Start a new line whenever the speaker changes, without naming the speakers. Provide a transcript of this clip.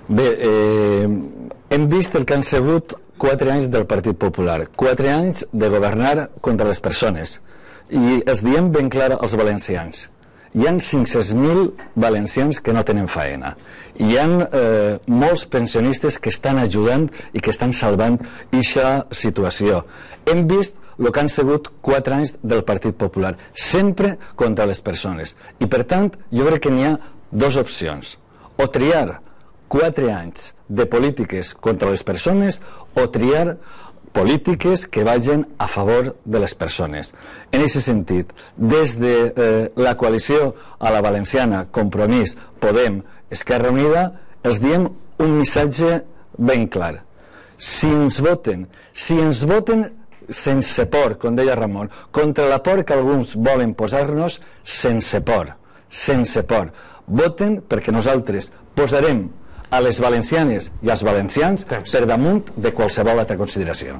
Bé, hem vist el que han sigut 4 anys del Partit Popular, 4 anys de governar contra les persones, i els diem ben clar als valencians: hi ha 500.000 valencians que no tenen faena, hi ha molts pensionistes que estan ajudant i que estan salvant aquesta situació. Hem vist el que han sigut 4 anys del Partit Popular, sempre contra les persones, i per tant jo crec que n'hi ha dues opcions: o triar 4 anys de polítiques contra les persones o triar polítiques que vagin a favor de les persones. En aquest sentit, des de la coalició a la valenciana, Compromís, Podem, Esquerra Unida, els diem un missatge ben clar: si ens voten sense por, com deia Ramon, contra la por que alguns volen posar-nos, sense por, voten, perquè nosaltres posarem a les valencianes i als valencians per damunt de qualsevol altra consideració.